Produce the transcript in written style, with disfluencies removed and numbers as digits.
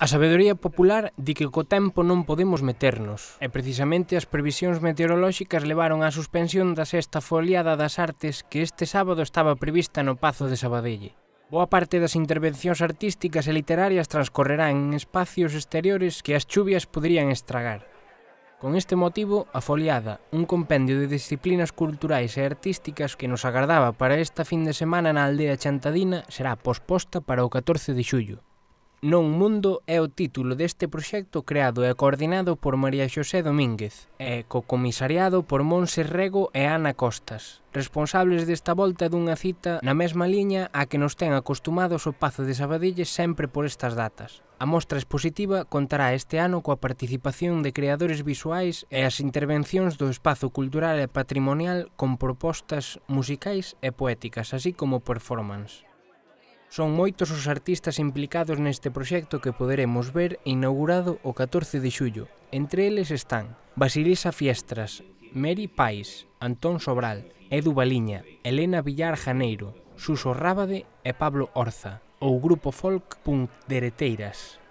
A sabedoría popular di que co tempo non podemos meternos, e precisamente as previsións meteorolóxicas levaron á suspensión da sexta foliada das artes que este sábado estaba prevista no Pazo de Sabadelle. Boa parte das intervencións artísticas e literarias transcorrerán en espacios exteriores que as chuvias poderían estragar. Con este motivo, a foliada, un compendio de disciplinas culturais e artísticas que nos agardaba para esta fin de semana na aldea chantadina, será posposta para o 14 de xullo. Non Mundo é o título deste proxecto creado e coordinado por María Xosé Domínguez e co-comisariado por Monse Rego e Ana Costas, responsables desta volta dunha cita na mesma liña a que nos ten acostumados o Pazo de Sabadelle sempre por estas datas. A mostra expositiva contará este ano coa participación de creadores visuais e as intervencións do espazo cultural e patrimonial con propostas musicais e poéticas, así como performance. Son moitos os artistas implicados neste proxecto que poderemos ver inaugurado o 14 de xullo. Entre eles están Basilisa Fiestras, Meri Pais, Antón Sobral, Edu Baliña, Elena Villar Janeiro, Suso Rábade e Pablo Orza, ou grupo folk Punk Dereteiras.